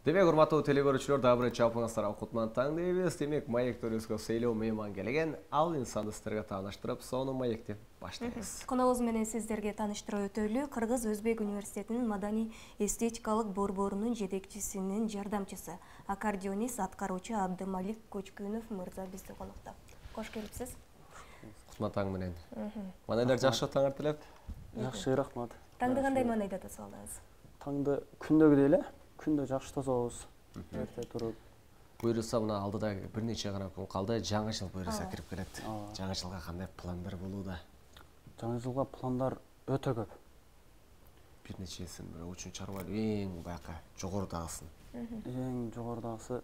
Демек, урматтуу телекөрүүчүлөр, дагы бир чалпыңыздарга кутман таң дейбиз. Демек, маек төрүбүзгө сейлөө мейман келген, ал инсанды сиздерге тааныштырып, сону маекти баштайбыз. Коногубуз менен сиздерге тааныштырып өтөлү. Кыргыз-Өзбек университетинин маданий эстетикалык борборунун жетекчисинин жардамчысы, аккордеонист аткаруучу Абдымалик Көчкүнов мырза бизде конокто. Кош келипсиз. Кутман таң менен. Манайлар жакшы таңар тилеп? Жакшы, рахмат. Таңды кандай маанайда тосолдуңуз? Таңды күндөгүдөй эле, күндө жакшы тособуз. Эрте туруп. Буюрса мына алдыда бир нече гана күн калды, жаңы жыл буюрса кирип келет. Жаңы жылга кандай пландар болууда? Жаңы жылга пландар өтө көп. Бир нечесин бир үчүн чарбай эң баякы жогорудагысын. Эң жогорудагысы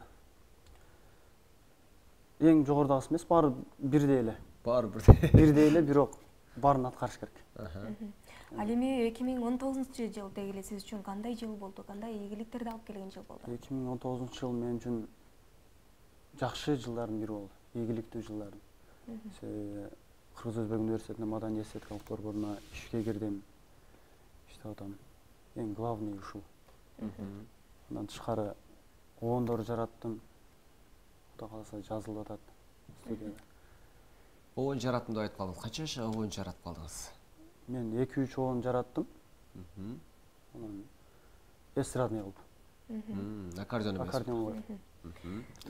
эмес, баары бирдей эле. Баары бирдей. Бирдей эле, бирок баарын аткарыш керек. Ал эми 2019-жылдагы эле сиз үчүн кандай жыл болду? Кандай ийгиликтерди алып келген жыл болду? 2019-жыл мен үчүн жакшы жылдардын бири болду, ийгиликтүү жылдардын. Кыргыз-Өзбек университетинин маданий эстетикалык борборуна ишке кирдим. Иштеп атам. Эң главный ушул. Андан тышкары обондор жараттым. Кудай кааласа жазылып атат студияда. Обон жараттым деп айтып калдыңыз. Канча жаш обон жаратып калдыңыз? Мен 2-3 обон жараттым. Анан эстрадный кылып. Аккордеон эмес. Аккордеон.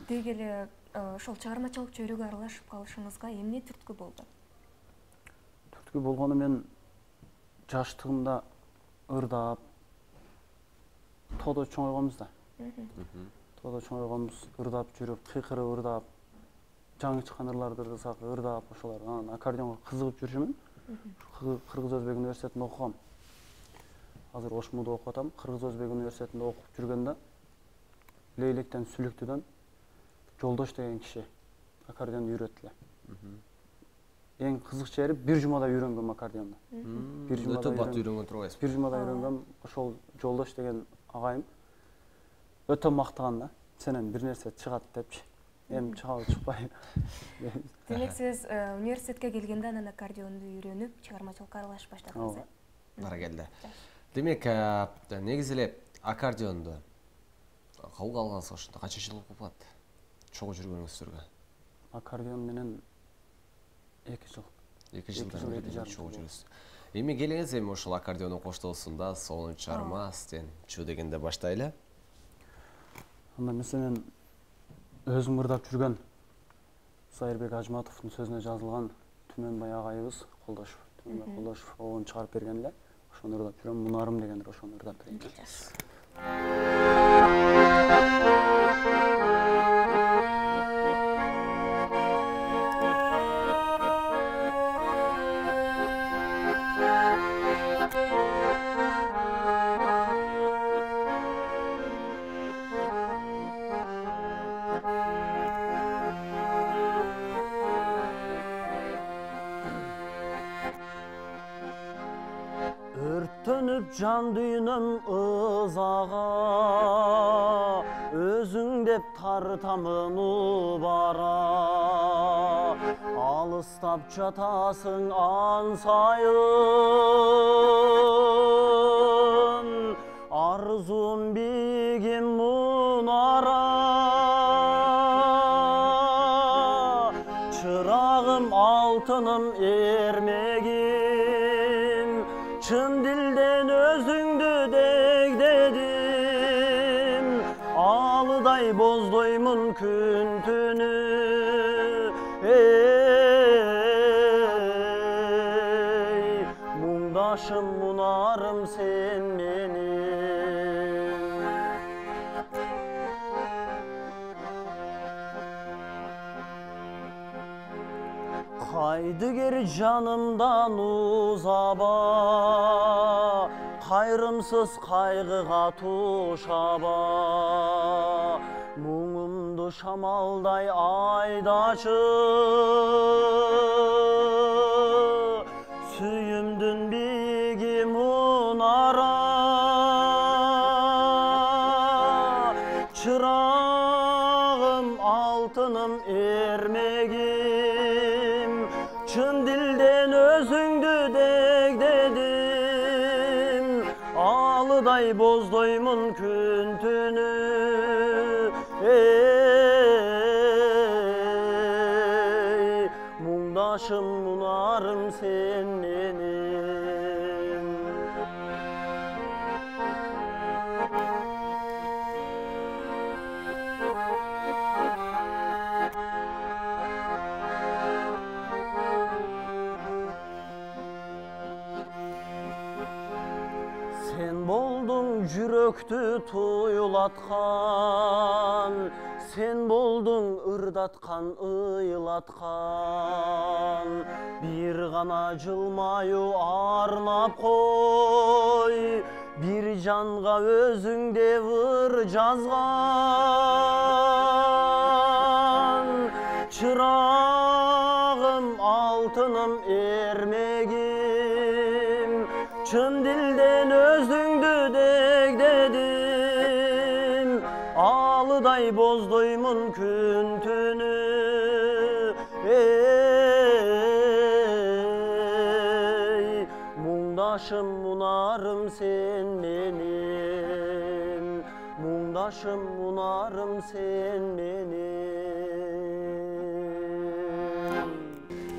Деги эле ошол чыгармачылык чөйрөгө аралашып калышыңызга эмне түрткү болду? Түрткү болгону мен жаштыгымда ырдап, тоодо чоңойгонбуз да. Тоодо чоңойгонбуз, ырдап жүрүп, кыйкырып ырдап, жаңы чыккан ырларды ырдасак, ырдап ошолор. Анан аккордеонго кызыгып жүрчүмүн. Кыргыз-Өзбек университетинде окугам. Азыр Ошмуда окуп атам. Кыргыз-Өзбек университетинде окуп жүргөндө Лейлектен Сүлүктүдөн Жолдош деген киши аккордеонду үйрөттү. Эң кызык жери бир жумада үйрөнгөм аккордеонду. Өтө бат үйрөнгөн турбайсызбы? Бир жумада үйрөнгөм. Ошол Жолдош деген агайым өтө мактаган да. Сенен бир нерсе чыгат депчи. Эми чыгабы чыкпайбы. Демек сиз университетке келгенде анан аккордеонду үйрөнүп, чыгармачылыкка аралашып баштадыңыз, э? Баракелде. Демек, негизи эле аккордеонду кабыл алганыңызга ошондо канча жыл болуп калат? Чогуу жүргөнүңүздөргө? Аккордеон менен 2 жыл. 2 жылдан бери чогуу жүрөсүз. Эми келиңиз, эми ошол аккордеондун коштоосунда сонун чарма сизден чу дегенде баштайлы. Анда мен өзүм ырдап жүргөн Сайырбек Ажматовдун сөзүнө жазылган Түмөнбай агайыбыз Колдошов, Түмөнбай Колдошов обон чыгарып берген эле. Ошону ырдап жүрөм, Мунарым дегендер ошону ырдап берген. Өрттөнүп жан дүйнөм ызага, өзүң деп тартамын убара. Алыстап жатасың ансайын, арзуум бигим мунара. Чырагым алтыным эрмегим, чын дилден өзүңдү дегдедим. Алыдай боздоймун күн түнү, муңдашым мунарым сен менин. Кайдыгер жанымдан узаба, кайрымсыз кайгыга тушаба. Муңумду шамалдай айдачы, сүйүмдүн биги мунара. Чырагым алтыным эрмегим, чын дилден өзүңдү дегдедим. Алыдай боздоймун күн түнү, Муңдашым мунарым сен менен. Sen boldun жүрөктү туйлаткан, sen boldun ырдаткан, ыйлаткан. Bir гана жылмаю арнап кой, bir жанга өзүңдө ыр жазган. Чырагым, алтыным, эрмегим, чын дилден өзүңдү дегдедим. Алыдай боздоймун күн түнү, эй, муңдашым мунарым сен менен, муңдашым мунарым сен менен.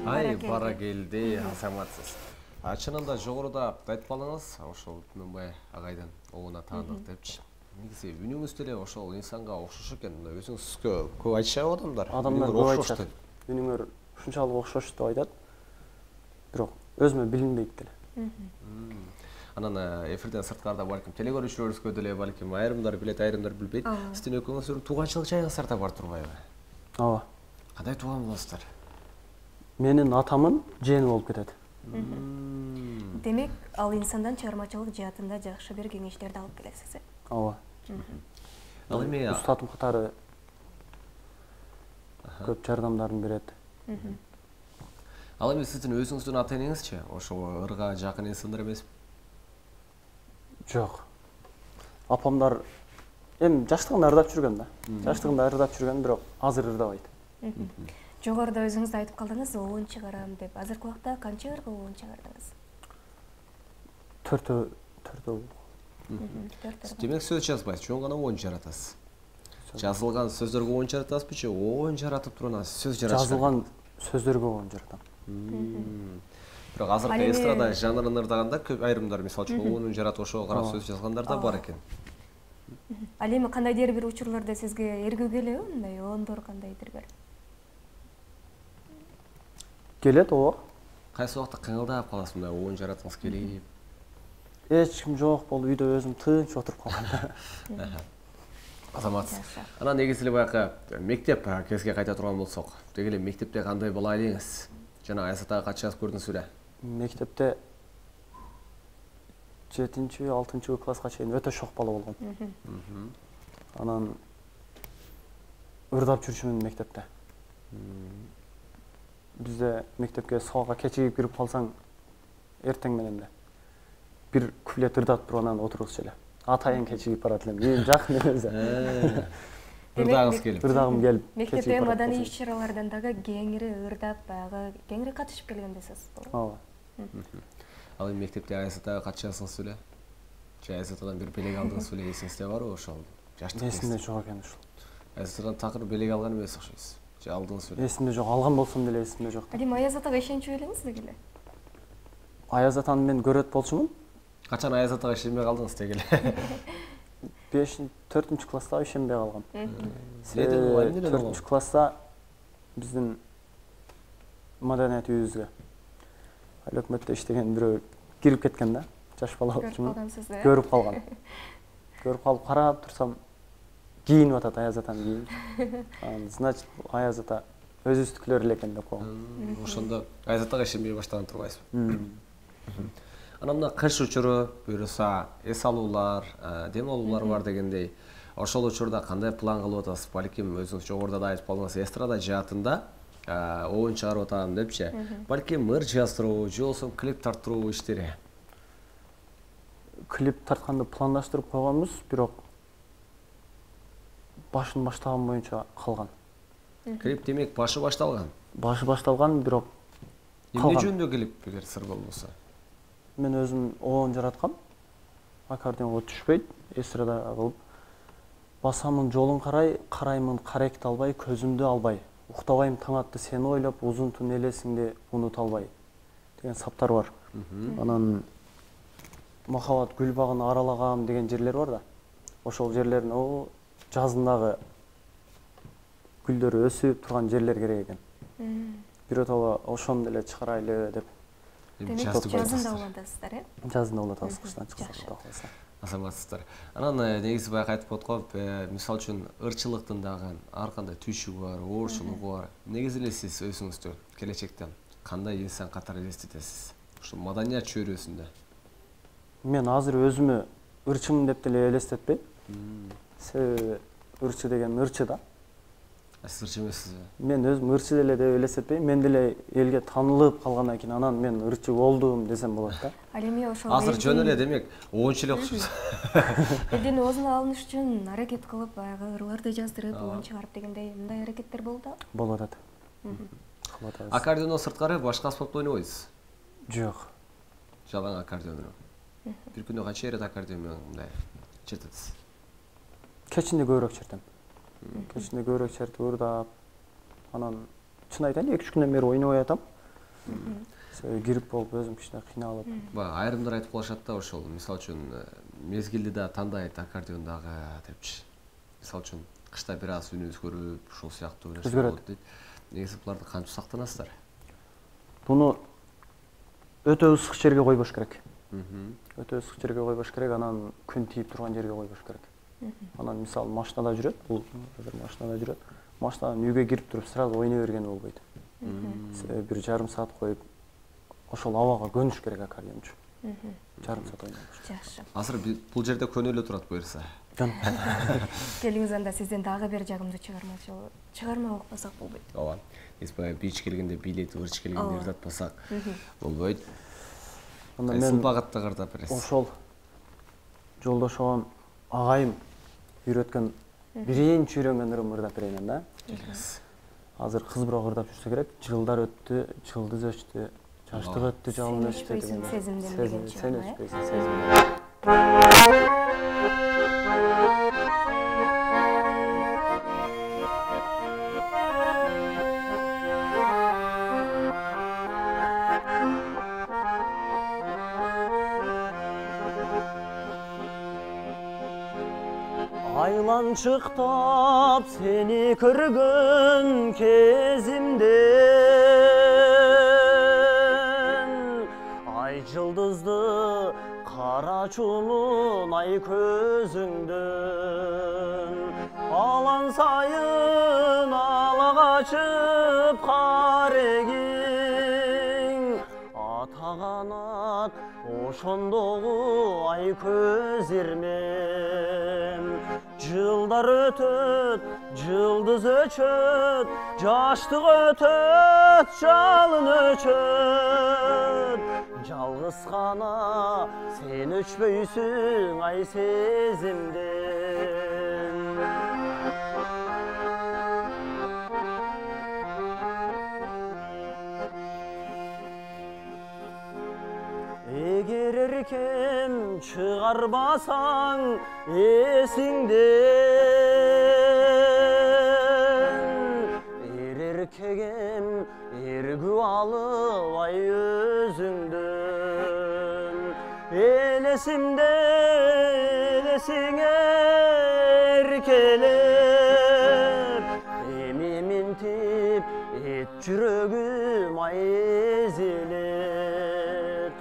Ай, бара келди, азаматсыз. Чынында жогоруда айтпалыңыз, ошол Түмөнбай агайдын оңуна таандык депчи. Негизи үнүңүз деле ошол инсанга окшош экен. Өзүңүзгө көп айтышабы адамдар? Адамдар көп айтышат. Үнүңөр ушунчалык окшош деп айтат. Бирок өзүмө билинбейт деле. Анан эфирден сырткарда балким телекөрүүчүлөрүбүзгө деле балким айрымдар билет, айрымдар билбейт. Сиздин экөөңүздүн тууганчылык жайыңыздар да бар турбайбы? Ооба. Кандай тууган болосуздар? Менин атамын жээни болуп кетет. Демек, ал инсандан чыгармачылык жаатында жакшы бир кеңештерди алып келесиз. Ооба. Ал эми устатым катары көп жардамдарын берет. Ал эми сиздин өзүңүздүн ата энеңизчи? Ошо ырга жакын инсандар эмеспи? Жок. Апамдар эми жаштыгында ырдап жүргөн да. Жаштыгында ырдап жүргөн, бирок азыр ырдабайт. Жогоруда өзүңүз айтып калдыңыз, оон чыгарам деп. Азыркы убакта канча ырга оон чыгардыңыз? 4. Демек сөз жазбайсыз, жөн гана оон жаратасыз. Жазылган сөздөргө оон жаратасызбы же оон жаратып туруп анан сөз жаратасыз? Жазылган сөздөргө оон жаратам. Бирок азыркы эстрада жанрын ырдаганда көп айрымдар мисалы үчүн оонун жаратып ошого карап сөз жазгандар да бар экен. Ал эми кандайдыр бир учурларда сизге эргүү келеби мындай оондор кандайдыр бир? Келет, ооба. Кайсы убакта кыңылдап каласыз мындай оон жараткыңыз келип? Эч ким жок болуп, үйдө өзүм тынч отуруп калгам. Азаматсыз. Анан негизи эле баягы мектеп кезге кайта турган болсок, деги эле мектепте кандай бала элеңиз? Жана Айсатага кача жазып көрдүңүз беле? Мектепте 7-6 класска чейин өтө шок бала болгом. Анан ырдап жүрчүмүн мектепте. Бизде мектепке сабакка кечигип кирип калсаң, эртең менен эле бир куплет ырдап туруп анан отургузчу эле. Атайын кечигип барат элем. Эң жакын эмес. Ырдагыңыз келип. Ырдагым келип. Мектепте маданий иш-чаралардан дагы кеңири ырдап, баягы кеңири катышып келгендесиз. Ооба. Ал эми мектепте Айсатага кача жаздыңыз беле? Же Айсатадан бир белек алдыңыз беле, эсиңизде барбы ошол? Жаштык эсимде жок экен ушул. Айсатадан такыр белек алган эмес окшойсуз. Же алдыңыз беле? Эсимде жок, алган болсом деле эсимде жок. Ал эми Аязатага ишенчү элеңиз деги эле? Аязатаны мен көрөт болчумун. Качан Аязатага ишенбей калдыңыз деги эле? 4 класста ишенбей калгам. 4 класста биздин маданият үйүбүзгө ал өкмөттө иштеген бирөө кирип кеткен да. Жаш бала болчумун. Көрүп калган. Көрүп калып карап турсам, кийинип атат Аязатаны кийинип. Значит, Аязата өзүбүздүкүлөр эле экен деп койгом. Ошондо Аязатага ишенбей баштаган турбайсызбы? Анан мына кыш учуру буюрса, эс алуулар, дем алуулар бар дегендей. Ошол учурда кандай план кылып атасыз? Балким өзүңүз жогоруда да айтып калдыңыз, эстрада жаатында оон чыгарып атам депчи. Балким ыр жаздыруу, же болбосо клип тарттыруу иштери. Клип тартканды пландаштырып койгонбуз, бирок башын баштаган боюнча калган. Клип демек башы башталган. Башы башталган, бирок эмне жөнүндө клип, эгер сыр болбосо? Мен өзүм оон жараткам. Аккордеонго түшпөйт, эстрада кылып. Басамын жолун карай, караймын каректи албай, көзүмдү албай. уктабайм таң атты сени ойлоп, узун түн элесиңди унута албай деген саптар бар. Анан махабат гүл багын аралагам деген жерлер бар да. Ошол жерлерин жазындагы гүлдөр өсүп турган жерлер керек экен. Биротоло ошону деле чыгарайлы деп. Демек жазында улантасыздар, э? Жазында улантабыз, кыштан чыкса Кудай кааласа. Азаматсыздар. Анан негизи баягы айтып аткоп, мисалы үчүн ырчылыктын дагы ар кандай түйшүгү бар, оорчулугу бар. Негизи эле сиз өзүңүздү келечекте кандай инсан катары элестетесиз? Ушу маданият чөйрөсүндө. Мен азыр өзүмө ырчымын деп деле элестетпейм. Себеби ырчы деген ырчы да. Сиз ырчы эмессизби? Мен өзүм ырчы деле деп элестетпейм. Мен деле элге таанылып калгандан кийин анан мен ырчы болдум десем болот да. Ал эми ошол Азыр жөн эле демек оончу эле окшойсуз. Элдин оозуна алыныш үчүн аракет кылып, баягы ырларды жаздырып, оон чыгарып дегендей мындай аракеттер болуп атабы? Болуп атат. Кылып атабыз. Аккордеондон сырткары башка аспапты ойнобойсуз? Жок. Жалаң аккордеон менен. Бир күндө канча ирет аккордеон менен мындай чертесиз? Кечинде көбүрөөк чертем. Кечинде көбүрөөк чертип ырдап, анан чын айтайын 2-3 күндөн бери ойнобой атам. Себеби грипп болуп өзүм кичине кыйналып. Айрымдар айтып калышат да ошол, мисалы үчүн мезгилди да тандайт аккордеондагы депчи. Мисалы үчүн кышта бир аз үнү өзгөрүп, ушул сыяктуу нерсе болот дейт. Негизи буларды кантип сактанасыздар? Буну өтө ысык жерге койбош керек. Өтө ысык жерге койбош керек, анан күн тийип турган жерге койбош керек. Анан мисалы машинада жүрөт, бул азыр машинада жүрөт. Машинадан үйгө кирип туруп сразу ойной берген болбойт. Себеби бир жарым саат коюп ошол абага көнүш керек аккордеон үчүн. Жарым саат ойнош. Жакшы. Азыр бул жерде көнө эле турат буюрса. Келиңиз анда сизден дагы бир жагымдуу чыгарма окупасак болбойт. Ооба. Биз баягы бич келгенде бийлетип, ырч келгенде ырдатпасак болбойт. Анда Мен мен багытта ырдап бересиз. ошол жолдошом агайым үйрөткөн биринчи үйрөнгөн ырым ырдап берейин да. Азыр кыз бирок ырдап жүрсө керек. Жылдар өттү, жылдыз өчтү, жаштык өттү, жалын өчтү деген. Сезимден деген чыгым. Сен өчпөйсүң, сезимден. Айланчыктап сени көргөн кезимден ай жылдызды кара чулун ай көзүңдөн алан сайын ала качып карегиң ата канат ошондогу ай көз ирмем жылдар өтөт, жылдыз өчөт, жаштык өтөт, жалын өчөт. Жалгыз гана сен өчпөйсүң ай сезимден. Эгер эркем чыгарбасаң эсиңден эркегем эргүү алып ай өзүңдөн элесимде элесиңе эркелеп эми минтип эт жүрөгүм ай эзилет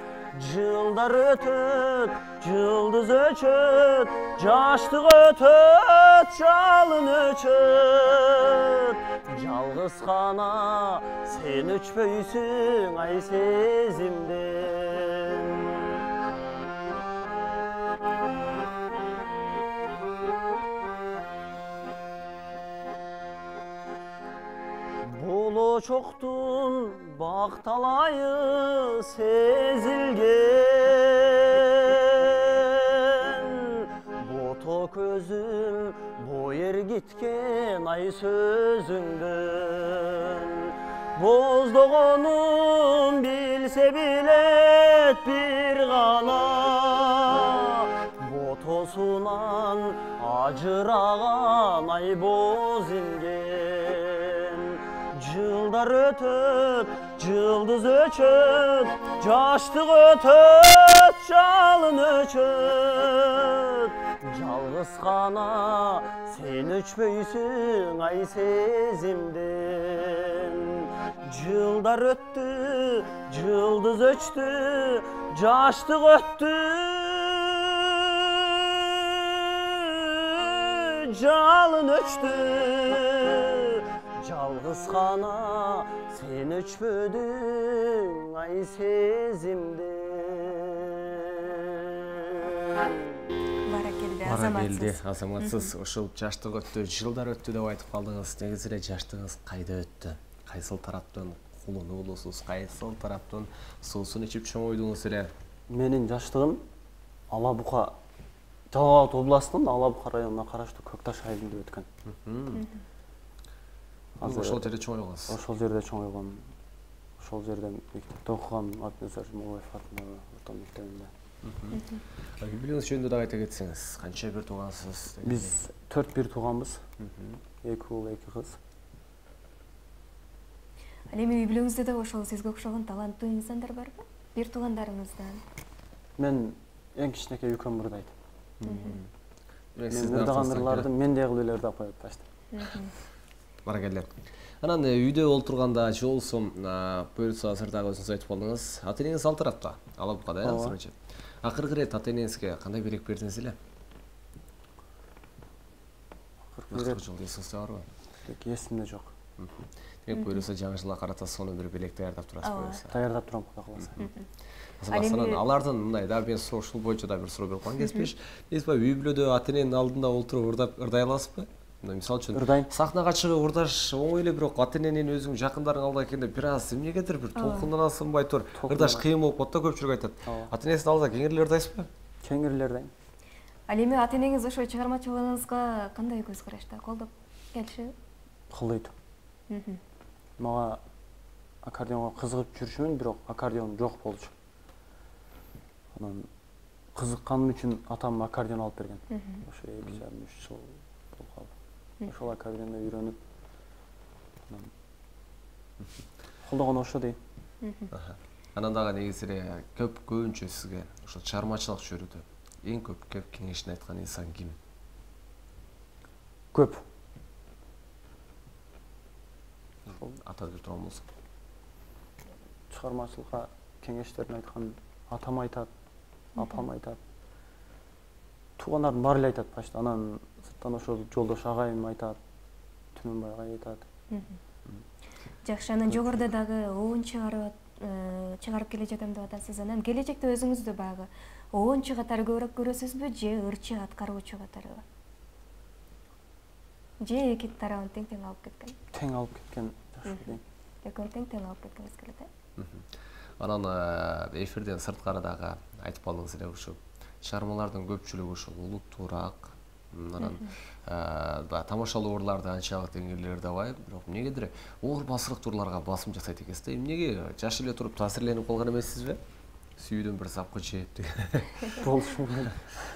жылдар өтөт, жылдыз өчөт, жаштык өтөт, жалын өчөт. Жалгыз гана сен өчпөйсүң ай сезимден. Болочоктун бак талайы сезилген бото көзүм бой ергиткен ай сөзүңдөн боздогонун билсе билет бир гана ботосунан ажыраган ай боз имген Жылдар өтөт, жылдыз өчөт, жаштык өтөт, жалын өчөт. Жалгыз гана сен өчпөйсүң ай сезимден. Жылдар өттү, жылдыз өчтү, жаштык өттү, жалын өчтү. Жалгыз гана сен өчпөдүң ай сезимден. Баракелде, азаматсыз. Ошол жаштык өттү, жылдар өттү деп айтып калдыңыз. Негизи эле жаштыгыңыз кайда өттү? Кайсыл тараптан кулунуулусуз, кайсыл тараптан суусун ичип чоңойдуңуз эле? Менин жаштыгым Ала Бука, Жалал Абад областынын Ала Бука районуна караштуу Көкташ айылында өткөн. Ошол жерде чоңойгонсуз? Ошол жерде чоңойгом. Ошол жерде мектепте окугам, Атназар Жумабаев атындагы орто мектебинде. Үй бүлөңүз жөнүндө да айта кетсеңиз, канча бир туугансыз? Биз 4 бир тууганбыз. 2 уул, 2 кыз. Ал эми үй бүлөңүздө да ошол сизге окшогон таланттуу инсандар барбы? Бир туугандарыңыздан? Мен эң кичинекей үкөм ырдайт. Мен Сиздин ырдаган ырларды мендей кылып эле ырдап коет башта. Баракелде. Анан үйдө олтурганда же болбосо буюрса азыр дагы өзүңүз айтып калдыңыз, ата-энеңиз ал тарапта, Ала Букада, азырынча. Акыркы ирет ата-энеңизге кандай белек бердиңиз эле? Акыркы жыл эсиңизде барбы? Эсимде жок. Демек буюрса жаңы жылга карата сонун бир белек даярдап турасыз буюрса. Даярдап турам, Кудай кааласа. Азамат, алардын мындай да, мен ушул боюнча да бир суроо берип коеюн кеспеш. Эсби үй бүлөдө ата-эненин алдында олтуруп ырдай аласызбы? Мисалы үчүн сахнага чыгып ырдаш оңой эле, бирок ата-эненин өзүң жакындарың алдыга келгенде бир аз эмнегедир бир толкунданасынбай тур, ырдаш кыйын болуп калат да, көпчүлүк айтат. Ата-энесинин алдыда кеңири эле ырдайсызбы? Кеңири эле ырдайм. Ал эми ата-энеңиз ошо чыгармачылыгыңызга кандай көз карашта? Колдоп келишеби? Колдойт. Мага аккордеонго кызыгып жүрүшүмүн, бирок аккордеон жок болчу. Анан кызыкканым үчүн атам аккордеон алып берген. Ошо 2,5-3 жыл болуп калды. Ошол аккордеондо үйрөнүп, колдогон ошо дейм. Анан дагы негизи эле көбүнчө сизге ошо чыгармачылык чөйрөдө эң көп кеңешин айткан инсан ким? Көп. Атап бир турган болсок. Чыгармачылыкка кеңештерин айткан атам айтат, апам айтат. Туугандардын баары эле айтат башта. Анан сырттан ошо жолдош агайым айтат, Түмөнбай агай айтат. Жакшы, анан жогоруда дагы оон чыгарып келе жатам деп атасыз. Анан келечекте өзүңүздү баягы оончу катары көбүрөөк көрөсүзбү же ырчы аткаруучу катарыбы? Же эки тарабын тең алып кеткен? Тең алып кеткен жакшы дейм. Экөөнү тең алып кеткиңиз келет, э? Анан эфирден сырткары дагы айтып калдыңыз эле, ушу чыгармалардын көпчүлүгү ушул улуттуураак, анан тамашалуу ырларды анчалык деңгээлде ырдабай, бирок эмнегедир оор басырыктуу ырларга басым жасайт экенсиз да. Эмнеге жаш эле туруп таасирленип калган эмессизби? Сүйүүдөн бир запкы жеп деген. Болушу мүмкүн.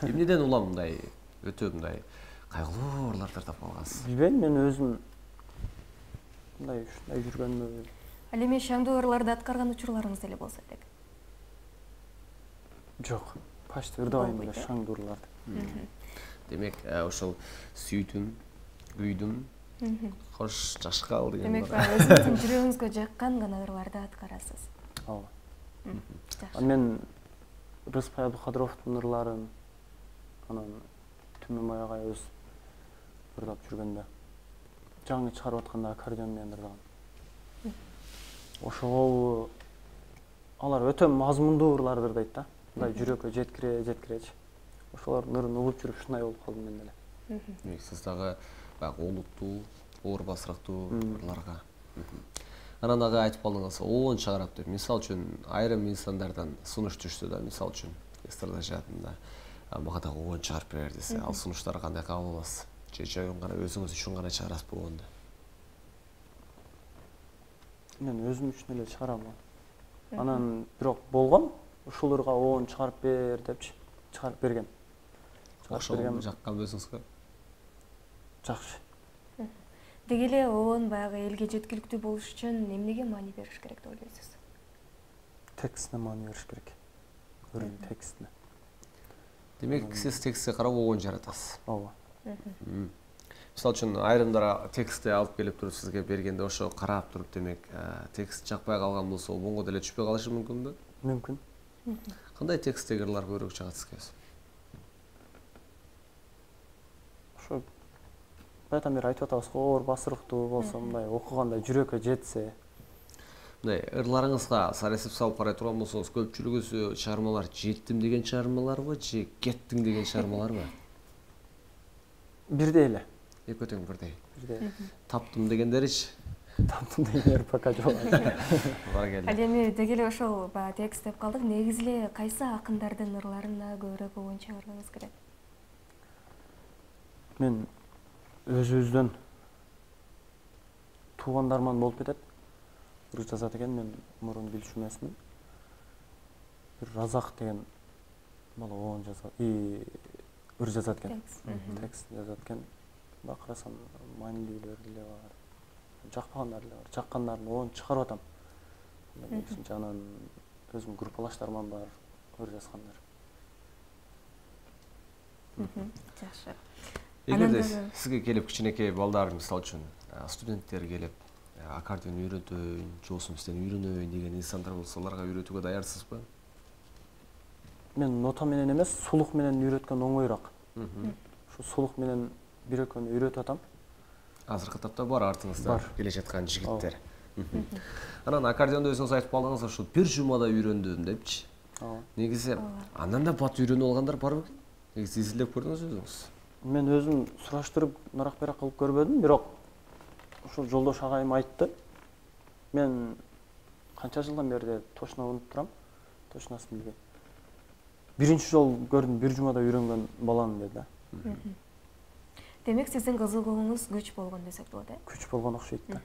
Эмнеден улам мындай өтө мындай кайгылуу ырларды ырдап калгансыз? Билбейм, мен өзүм мындай ушундай жүргөнмү? Ал эми шаңдуу ырларды аткарган учурларыңыз деле болсо элек? Жок, почти ырдабайм эле шаңдуу ырларды. Демек, ошол сүйдүм, күйдүм, кош жашкал деген. Демек, өзүңүздүн жүрөгүңүзгө жаккан гана ырларды аткарасыз. Ооба. Мен Рыспай Абдыкадыровдун ырларын, анан Түмөнбай агай өз ырдап жүргөндө, жаңы чыгарып атканда аккордеон менен ырдаган. Ошол алар өтө мазмундуу ырларды ырдайт да. Мындай жүрөккө жеткиречи. Ошолордун ырын угуп жүрүп ушундай болуп калдым мен деле. Демек, сиз дагы баягы олуттуу, оор басырыктуу ырларга. Анан дагы айтып калдыңыз, оон чыгарат деп. Мисалы үчүн айрым инсандардан сунуш түшсө да, мисалы үчүн эстрада жаатында мага дагы оон чыгарып берер десе, ал сунуштарды кандай кабыл аласыз? Же жайын гана өзүңүз үчүн гана чыгарасызбы оонду? Мен өзүм үчүн эле чыгарам. Анан бирок болгон ушул ырга оон чыгарып бер депчи, чыгарып берген. Ошол жаккан өзүңүзгө? Жакшы. Деги эле ООН баягы элге жеткиликтүү болуш үчүн эмнеге маани бериш керек деп ойлойсуз? Текстине маани бериш керек. Өрүн текстине. Демек, сиз текстке карап ООН жаратасыз. Ооба. Мисалы үчүн айрымдар текстти алып келип туруп сизге бергенде ошо карап туруп, демек, текст жакпай калган болсо, обонго деле түшпөй калышы мүмкүнбү? Мүмкүн. Кандай тексттеги ырлар көбүрөөк чыгат сизге? Ошо байтан бери айтып атабыз, оор басырыктуу болсо, мындай окуганда жүрөккө жетсе. Мындай ырларыңызга саресип салып карай турган болсоңуз, көпчүлүгү чыгармалар жеттим деген чыгармаларбы, же кеттиң деген чыгармаларбы? Бирдей эле. Экөө тең бирдей. Бирдей. Таптым дегендеричи? Таптым дегендер пока жок. Бар келди. Ал эми деги эле ошол текст деп калдык. Негизи эле кайсы акындардын ырларына көбүрөөк ООН чыгарганыңыз келет? Мен өзүбүздөн туугандарман болуп кетет. Ыр жазат экен, мен мурун билчү эмесмин. Бир Разак деген бала ООН жазат, ыр жазат экен. Текст жазат экен. Мына карасам, маанилүүлөр деле бар. Жакпагандар деле бар. Жаккандарын ООН чыгарып атам. Анан өзүмдүн группалаштарым бар, ыр жазгандар. Жакшы. Эгерде сизге келип кичинекей балдар, мисалы үчүн студенттер келип, аккордеон үйрөтөйүн, жолсун сизден үйрөнөйүн деген инсандар болсо, аларга үйрөтүүгө даярсызбы? Мен нота менен эмес, сулук менен үйрөткөн оңоюраак. Ошо сулук менен бир экөөнү үйрөтүп атам. Азыркы тапта бар артыңызда келе жаткан жигиттер. Анан аккордеонду өзүңүз айтып калдыңыз, ошо бир жумада үйрөндүм депчи. Негизи андан да бат үйрөнүп алгандар барбы? Негизи изилдеп көрдүңүзбү өзүңүз? Мен өзүм сураштырып, нарак-берак кылып көрбөдүм, бирок ошол жолдош агайым айтты. Мен канча жылдан бери точно унутуп турам, точносын билбейм. Биринчи жолу көрдүм, бир жумада үйрөнгөн баланы деди да. Демек, сиздин кызыгууңуз күч болгон десек болот, э? Күч болгон окшойт да.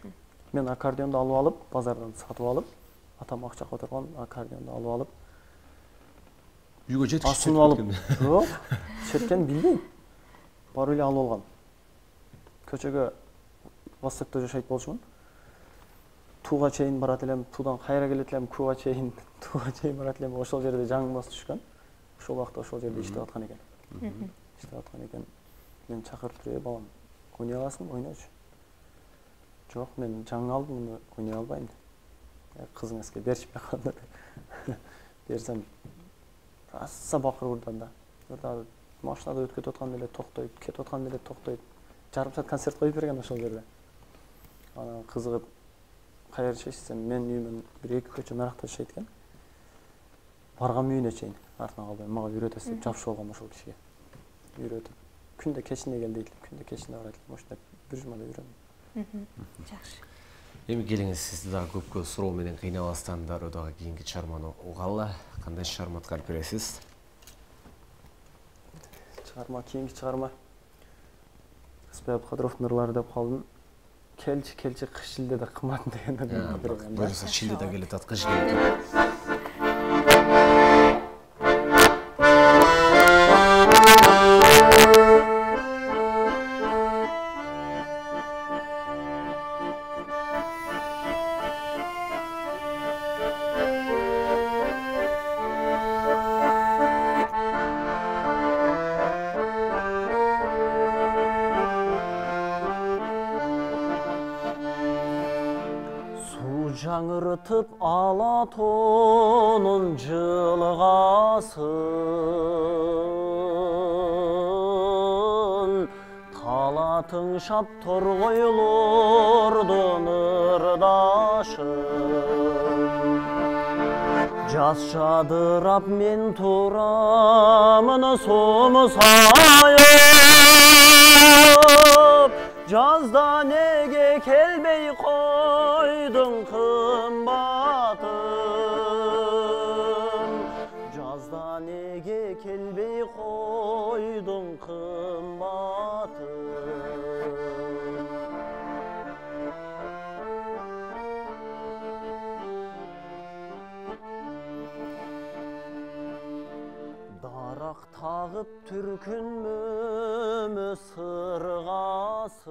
Мен аккордеонду алып алып, базардан сатып алып, атам акча которгон аккордеонду алып алып, үйгө жеткичип асынып алып, жок, четкен билбейм. Барып эле алып алгам. Көчөгө Востокто жашайт болчумун. Тууга чейин барат элем, туудан кайра келет элем, тууга чейин барат элем. Ошол жерде жаңыбас түшкөн. Ошол убакта ошол жерде иштеп аткан экен. Мен чакырып туруп, балам, ойнай аласың, ойночу. Жок, мен жаңы алдым, муну ойнай албайм. Кызыңызга беришпей калды. Берсем, аса бакыр урдан да. Машинада өткөтүп атканда эле токтойт, кетип атканда эле токтойт. Жарым саат концерт коюп берген ошол жерде. Анан кызыгып, кайра жашайсың? Мен үйүмөн бир эки көчө наракта жашайт экен. Баргам үйүнө чейин, артынан калбай, мага үйрөтөсүз деп жабышып алгам ошол кишиге. Үйрөтүп, күндө кечинде кел дейт, күндө кечинде барат элем, ошондой бир жумада үйрөндүм. Жакшы. Эми келиңиз, сизди дагы көпкө суроо менен кыйнабастан дароо дагы кийинки чыгарманы угалы. Кандай чыгарма аткарып бересиз? Кийинки чыгарма Рыспай Абдыкадыровдун ырлары деп калдым. Келчи кыш шилдеде кымат деген. Буюрса шилдеде келет ат, кыш келет. Жаңыртып Алатонун жылгасын, талатың шап торгойлордун ырдашын. Жаз жадырап мен турамын сомсайып, жазда неге келбей койдуң кымбатым, жазда неге келбей койдуң кымбатым. Дарак тагып түркүнмө сыргасын,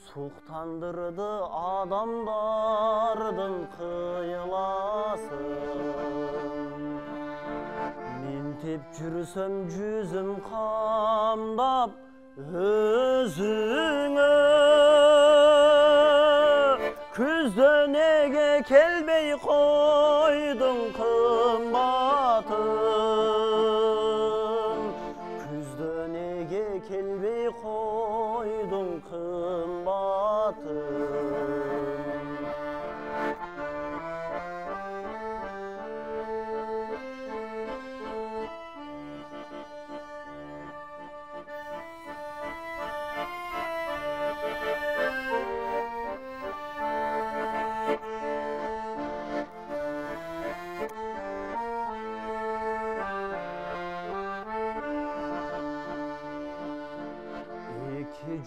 суктандырды адамдардын кыйласын. Ментеп жүрсөм жүзүм камдап өзүңө, күздө неге келбей койдуң кымбатым, күздө неге келбей койдуң кымбатым.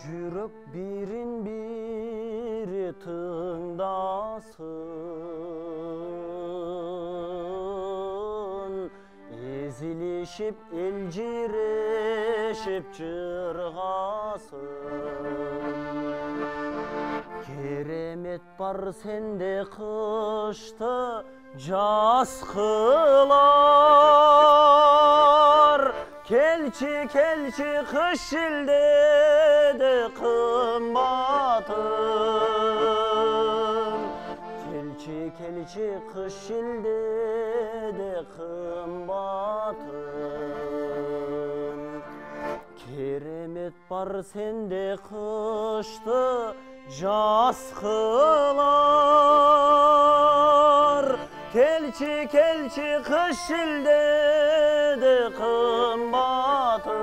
Жүрөк бирин бири тыңдасын, эзилишип элжирешип жыргасын. Керемет бар сенде кышты жаз кылар, келчи келчи кыш илдеди кымбатым, келчи келчи кыш илдеди кымбатым. Керемет бар сенде кышты жаз кылар, келчи келчи кыш илдеди кымбатым,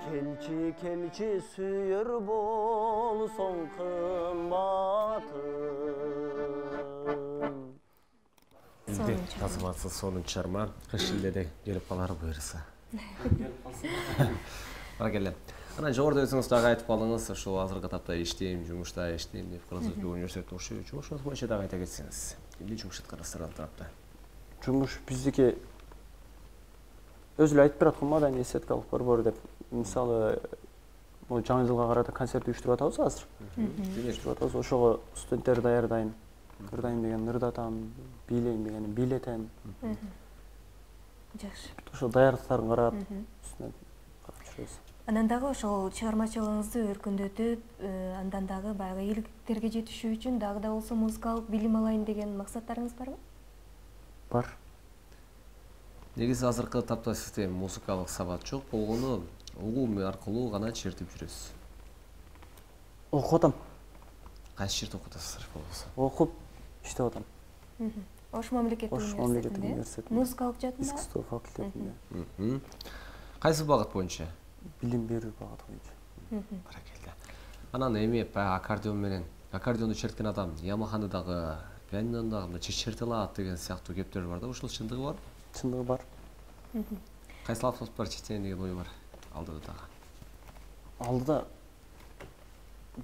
келчи келчи сүйөр болсоң кымбатым. Тазыматсыз сонун чарма кыш илдеде келип калар буюрса. Баракелде. Анан жогоруда өзүңүз дагы айтып калдыңыз, ошол азыркы тапта иштейм, жумушта иштейм деп Кыргыз Өзбек университетинде окуйт. Жумушуңуз боюнча дагы айта кетсеңиз. Эмне жумуш аткарасыздар ал тарапта? Жумуш биздики өзү эле айтып бераткан маданий эстетикалык борбор деп. Мисалы, могу жаңы жылга карата концерт уюштуруп атабыз азыр. Уюштуруп атабыз. Ошого студенттерди даярдайм. Ырдайм деген ырдатам, бийлейм деген бийлетем. Жакшы. Ошол даярдыктарын карап, үстүнөн карап жүрөбүз. Анан дагы ошол чыгармачылыгыңызды өркүндөтүп, андан дагы баягы ийгиликтерге жетишүү үчүн дагы да болсо музыкалык билим алайын деген максаттарыңыз барбы? Бар. Негизи азыркы тапта сизде музыкалык сабат жок болгону угуу аркылуу гана чертип жүрөсүз. Окуп атам. Кайсы жерде окуп атасыздар болбосо? Окуп иштеп атам. Ош мамлекеттик университетинде. Музыкалык жаатында? Искусство факультетинде. Кайсы багыт боюнча? Билим берүү багыты боюнча. Баракелде. Анан эми аккордеон менен, аккордеонду черткен адам Ямаханы дагы, пианинону дагы черте алат деген сыяктуу кептер бар да, ошол чындыгы бар? Чындыгы бар. Кайсы аспаптар чертейин деген ой бар алдыда дагы? Алдыда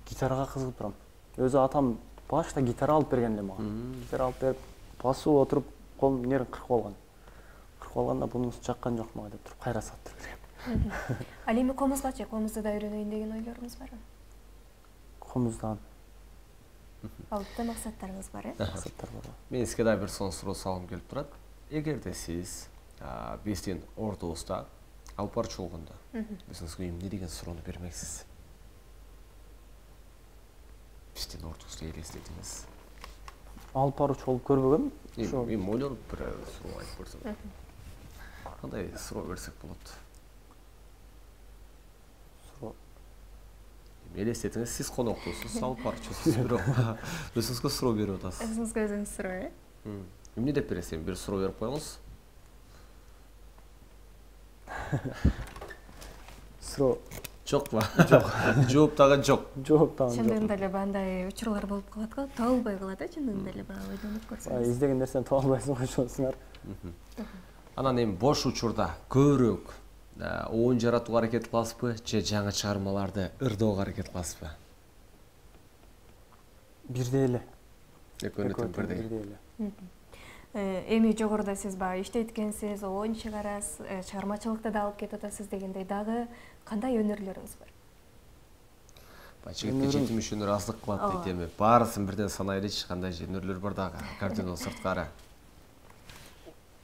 гитарага кызыгып турам. Өзү атам башта гитара алып берген эле мага. Гитара алып берип, басып отуруп, колум нерин кыркып алган. Кыркып алганда бунусу жаккан жок мага деп туруп кайра саттырып берем. Ал эми комузгачы, комузду да үйрөнөйүн деген ойлоруңуз барбы? Комуздан. Алдыда максаттарыңыз бар, Максаттар бар. Мен сизге дагы бир сонун суроо салгым келип турат. Эгерде сиз биздин ордубузда алып барчу болгондо, өзүңүзгө эмне деген суроону бермексиз? Биздин ордубузду элестетиңиз. Алып баруучу болуп көрбөгөм. Эми ойлонуп бир суроо айтып көрсөм. Кандай суроо берсек болот? Элестетиңиз, сиз коноктусуз, алып барчусуз, бирок өзүңүзгө суроо берип атасыз. Өзүңүзгө өзүңүз суроо, Эмне деп бересиз? Бир суроо берип коюңуз. Суроо Жокпу? Жок. Жооп дагы жок. жооп дагы жок. Чындыгында эле андай учурлар болуп калат го, табылбай калат, чындыгында эле баягы ойлонуп көрсөңүз. Издеген нерсени таба албайсың го ошонусуңар. Анан эми бош учурда көбүрөөк оюн жаратууга аракет кыласызбы, же жаңы чыгармаларды ырдоого аракет кыласызбы? Бирдей эле. Экөөнү тең бирдей эле. Эми жогоруда сиз баягы иштейт экенсиз, оюн чыгарасыз, чыгармачылыкты да алып кетип атасыз дегендей, дагы кандай өнөрлөрүңүз бар? жигитке жетимиш өнөр аздык кылат дейт эми. Баарысын бирден санайлычы, кандай өнөрлөр бар дагы аккордеондон сырткары.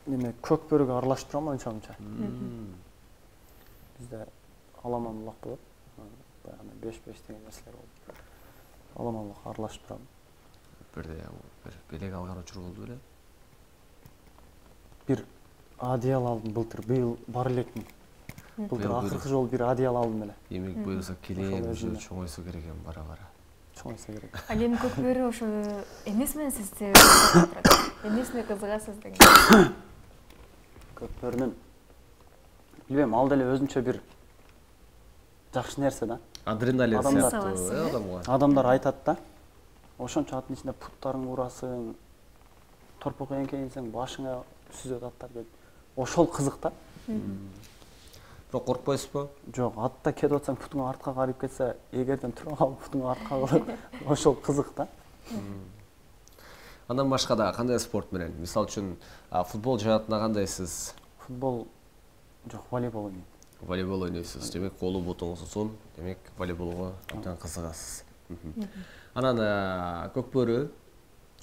Неме көк бөрүгө аралашып турам анча-мынча. Бизде аламан-булак болот. Баягы 5-5 деген нерселер болот. Аламан-булак аралашып турам. Бир белек алган учур болду беле? Бир одеял алдым былтыр, быйыл бар элекмин. Былтыр акыркы жолу бир одеял алдым эле. Эмек буюрса келем, чоңойсо керек эми бара-бара. Чоңойсо керек. Ал эми көк бөрү ошо эмесмен сизди кызыктырат? Эмесине кызыгасыз деген? Көк бөрүнүн билбейм, ал деле өзүнчө бир жакшы нерсе да. Адреналин сыяктуу адамга. Адамдар айтат да. Ошончо аттын ичинде путтарың урасың, торпок эңкейинсең, башыңа сүзөт аттар деп. Ошол кызык да. Бирок коркпойсузбу? Жок, атта кетип атсаң путуң артка карыйып кетсе, эгерден тура калып путуң артка калып, ошол кызык да. Андан башка да кандай спорт менен? Мисалы үчүн футбол жаатында кандайсыз? Футбол жок, волейбол ойнойм. Волейбол ойнойсуз. Демек, колу бутуңуз узун, демек волейболго абдан кызыгасыз. Анан көк бөрү,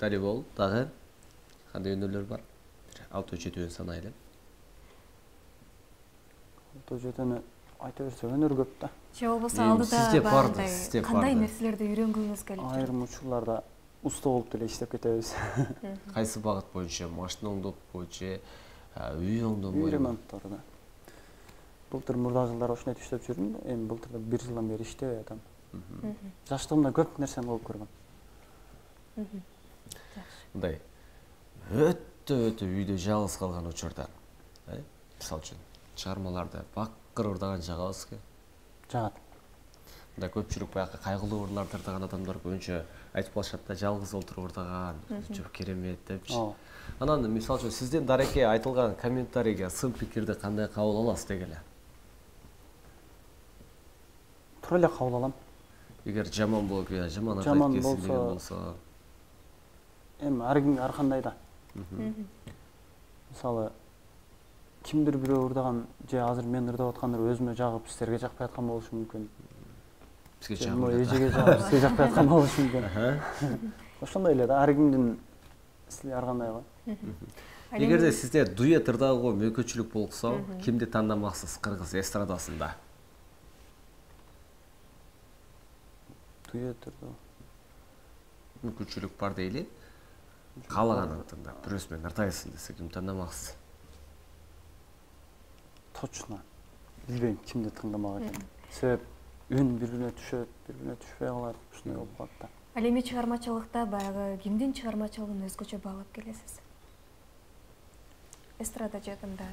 волейбол дагы кандай өнөрлөр бар? 6-7 санайлы. 6-7 айта берсе өнөр көп да. Же болбосо алдыда барды. кандай нерселерди үйрөнгүңүз келип? Айрым учурларда уста болуп деле иштеп кетебиз. Кайсы багыт боюнча? Машина оңдоп боюнча, үй оңдоо боюнча? Үй ремонттары да. Былтыр мурда жылдары ошондой иштеп жүрдүм, эми былтыр 1 жылдан бери иштебей атам. Жаштыгымда көп нерсени кылып көргөм. Мындай өтө үйдө жалгыз калган учурда, мисалы үчүн чыгармаларды бакыр ырдаган жагабызбы? Жагат. Мындай көпчүлүк баягы кайгылуу ырларды ырдаган адамдар көбүнчө айтып калышат да, жалгыз отуруп ырдаган, өзүнчө керемет депчи. Анан мисалы үчүн сиздин дареке айтылган комментарийге, сын пикирди кандай кабыл аласыз дегеле? Туура эле кабыл алам. Эгер жаман болуп, жаман айтып кетсин деген болсо, эми ар кимге ар кандай да. Мисалы, кимдир бирөө ырдаган же азыр мен ырдап аткандар өзүмө жагып, силерге жакпай аткан болушу мүмкүн. Бизге жагып, эжеге жагып, сизге жакпай аткан болушу мүмкүн. Ошондой эле да, ар кимдин стили ар кандай го. Эгерде сизде дуэт ырдоого мүмкүнчүлүк болсо, кимди тандамаксыз кыргыз эстрадасында? Дуэт ырдоо. Мүмкүнчүлүк бар дейли. Каалаганын тандап, бирөөсү менен ырдайсың десе, ким тандамаксыз? Точно. Билбейм кимди тандамак экенин. Себеп үн бири-бирине түшөт, бири-бирине түшпөй калат, ушундай болуп калат да. Ал эми чыгармачылыкта баягы кимдин чыгармачылыгын өзгөчө баалап келесиз? Эстрада жагында,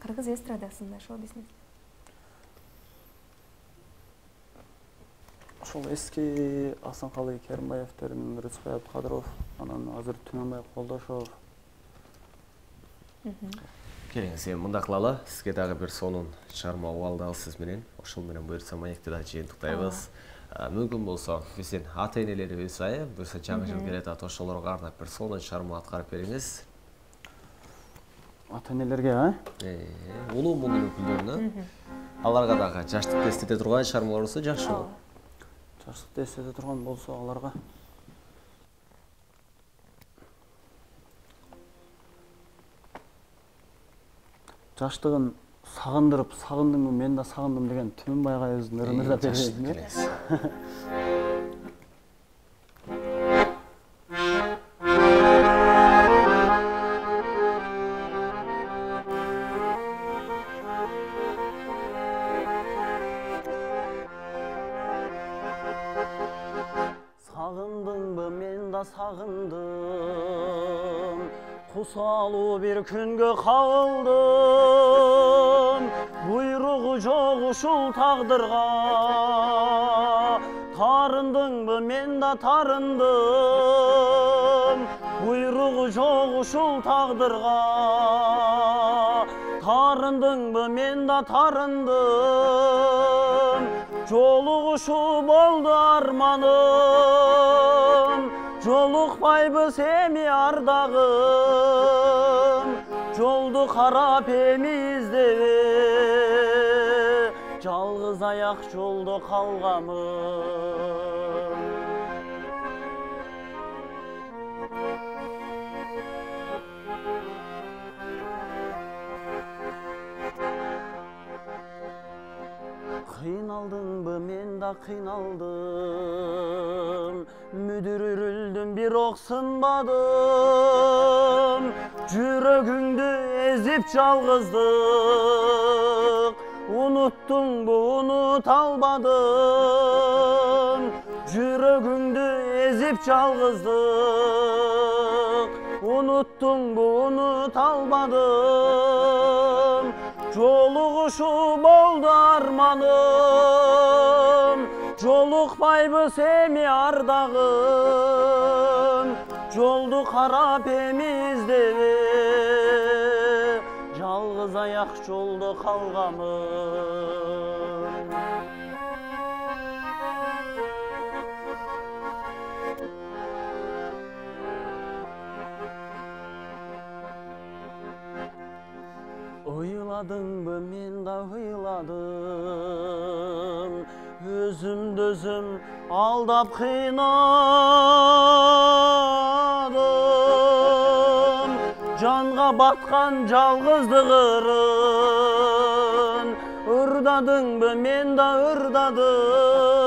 кыргыз эстрадасында шоу-бизнес. Ошол эски Асанкалы Керимбаевдердин, Рыскай Абдыкадыров, анан азыр Түнөнбай Колдошов. Келиңиз, эми мындай кылалы, сизге дагы бир сонун чыгарма угуп алдык сиз менен. Ошол менен буюрса маекти да жыйынтыктайбыз. Мүмкүн болсо биздин ата-энелерибиз, буюрса жаңы жыл келет атат, ошолорго арнап бир сонун чыгарма аткарып бериңиз. Ата-энелерге, улуу мундун өкүлдөрүнө, аларга дагы жаштыкты эстете турган чыгармалар болсо жакшы болот. Жаштыкты эстете турган болсо аларга жаштыгын сагындырып, сагындыңбы, мен да сагындым деген Түнөнбай агайыбыздын ырын ырдап берейин. Сагындыңбы, мен да сагындым, кусалуу бир күнгө кабылдым, буйругу жок ушул тагдырга. Тарындыңбы, мен да тарындым, буйругу жок ушул тагдырга. Тарындыңбы, мен да тарындым, жолугушуу болду арманым, жолукпайбыз эми ардагым, жолду карап эми издебе, жалгыз аяк жолдо калганмын. Кыйналдыңбы, мен да кыйналдым, мүдүрүлдүм бирок сынбадым, жүрөгүңдү эзип жалгыздык, уnuttуңбу, унута албадым, жүрөгүңдү эзип жалгыздык, уnuttуңбу, унута албадым, жолугушуу болду арманым, жолукпайбыз эми ардагым, жолду карап эми издеби, жалгыз аяк жолдо калгамын. Ыйладыңбы, мен да ыйладым, өзүмдү өзүм алдап кыйнадым, жанга баткан жалгыздык ырын, ырдадыңбы, мен да ырдадым,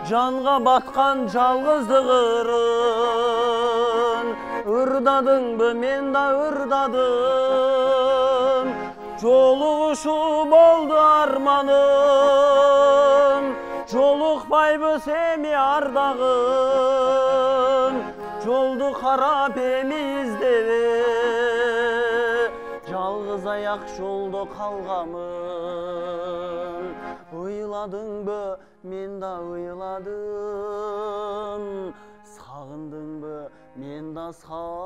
жанга баткан жалгыздык ырын, ырдадыңбы, мен да ырдадым, жолугушуу болду арманым, жолукпайбыз эми ардагым, жолду карап эми издеби, жалгыз аяк жолдо калгамын. Ыйладыңбы, мен да ыйладым, сагындыңбы, мен да сагындым.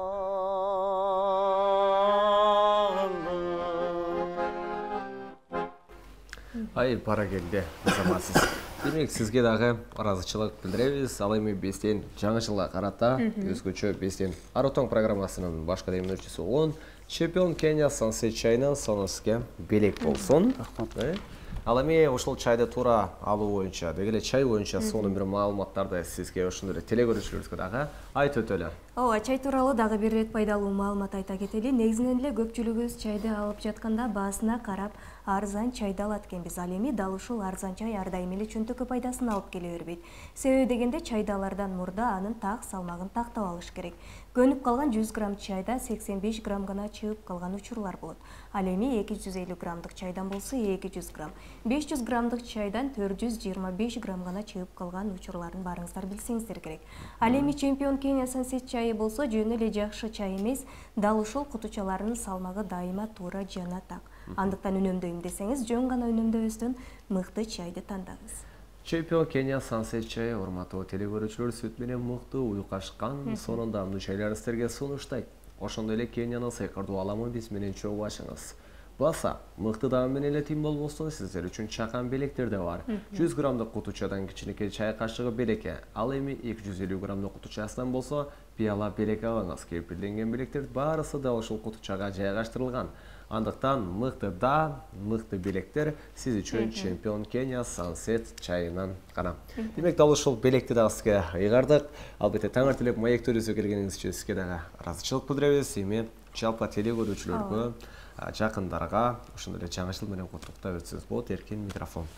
Ай, баракелде, заматсыз. Демек, сизге дагы ыраазычылык билдиребиз. Ал эми бизден жаңы жылга карата өзгөчө бизден Арутоң программасынын башкы демөөрчүсү болгон чемпион Кения Sunset чайынан соноске белек болсун. Ал эми ошол чайды туура алуу боюнча, деги эле чай боюнча сонун бир маалыматтарды сизге ошондой эле телекөрүүчүлөрүбүзгө дагы айтып өтөлү. Ооба, чай тууралуу дагы бир ирет пайдалуу маалымат айта кетели. Негизинен эле көпчүлүгүбүз чайды алып жатканда баасына карап арзан чайды алат экенбиз. Ал эми дал ушул арзан чай ар дайым эле чөнтөккө пайдасын алып келе бербейт. Себеби дегенде чайды алардан мурда анын так салмагын тактап алыш керек. Көнүп калган 100 грамм чайда 85 грамм гана чыгып калган учурлар болот. Ал эми 250 граммдык чайдан болсо 200 грамм, 500 граммдык чайдан 425 грамм гана чыгып калган учурларын барыңыздар билсеңиздер керек. Ал эми чемпион Кения Sunset чайы болсо жөн эле жакшы чай эмес, дал ушул кутучаларынын салмагы дайыма туура жана так. Андыктан үнөмдөйм десеңиз, жөн гана үнөмдөбөстөн мыкты чайды тандаңыз. Чемпион Кения Sunset чайы урматтуу телекөрүүчүлөр сүт менен мыкты уюкашкан сонун даамдуу чайлар сиздерге сунуштайт. Ошондой эле Кениянын сыйкырдуу аламы биз менен чогуу башыңыз. Баса, мыкты даам менен эле тим болбосо сиздер үчүн чакан белектер да бар. 100 граммдык кутучадан кичинекей чай кашыгы белекке, ал эми 250 граммдык кутучасынан болсо пиала белек алыңыз. Кепилденген белектер баарысы да ушул кутучага жайгаштырылган. Андыктан мыкты даам, мыкты белектер сиз үчүн чемпион Кения Sunset чайынан гана. Демек, дал ушул белекти дагы сизге ыйгардык. Албетте таңертелек маектөрүбүзгө келгениңиз үчүн сизге дагы ыраазычылык билдиребиз. Эми жалпы телекөрүүчүлөргө, жакындарга ошондой эле жаңы жыл менен куттуктап өтсөңүз болот. Эркин микрофон.